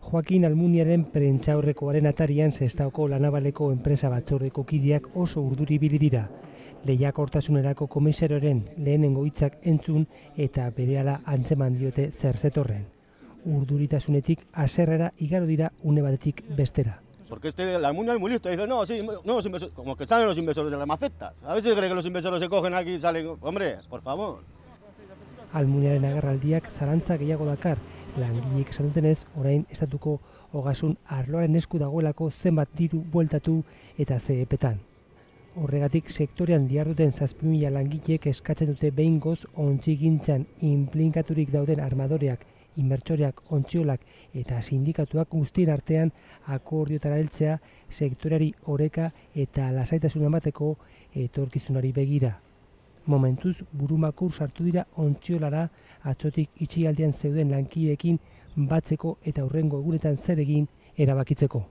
Joakin Almuniaren prentsaurrekoaren atarian Sestaoko Lanabaleko enpresa batzordeko kideak oso urduri ibili dira. Lehiakortasunerako komisarioaren lehenengo hitzak entzun eta berehala antzeman diote zer zetorren. Urduritasunetik haserrera igaro dira une batetik bestera. Porque la Almunia es muy listo, dice, no, sí, nuevos inversores, como que salen los inversores de las macetas. A ver si cree que los inversores se cogen aquí y salen, hombre, por favor. Almuniaren agerraldiak zalantza gehiago dakar, langileek esan dutenez, orain estatuko ogasun arloaren esku dagoelako zenbat diru bueltatu eta ze epetan. Horregatik sektorean diharduten 7.000 langileek eskatzen dute behingoz ontzigintzan inplikaturik dauden armadoreak, inbertsoreak, ontziolak eta sindikatuak guztien artean akordiotara heltzea sektoreari oreka eta lasaitasun emateko etorkizunari begira. Momentuz burumakur sartu dira ontziolara atzotik itxialdian zeuden lankideekin batzeko eta hurrengo egunetan zer egin erabakitzeko.